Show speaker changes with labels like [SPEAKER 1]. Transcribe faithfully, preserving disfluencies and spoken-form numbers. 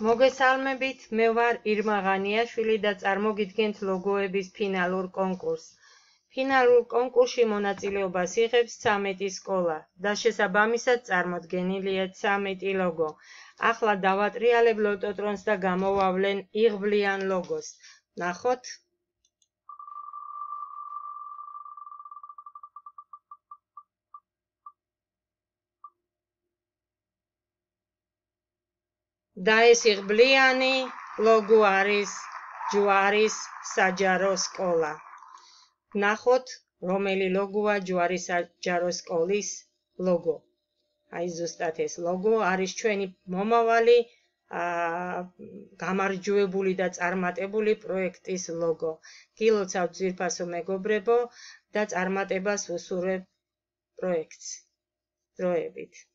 [SPEAKER 1] მოგესალმებით, მე ვარ ირმა ღანიაშვილი და წარმოგიდგენთ ლოგოების ფინალურ კონკურსს. ფინალურ კონკურსში მონაწილეობას იღებს ცამეტი სკოლა და შესაბამისად წარმოდგენილია ცამეტი ლოგო. ახლა დავატრიალებ ლოტოტრონს და გამოვავლენ იღბლიან ლოგოს. ნახოთ. და ეს იღბლიანი ლოგო არის ჯვარის საჯარო სკოლა. ნახოთ, რომელი ლოგოა ჯვარის საჯარო სკოლის ლოგო. აი ზუსტად ეს ლოგო არის ჩვენი მომავალი გამარჯვებული და წარმატებული პროექტის ლოგო. გილოცავთ ძვირფასო მეგობრებო და წარმატებას ვუსურვებ პროექტს. დროებით.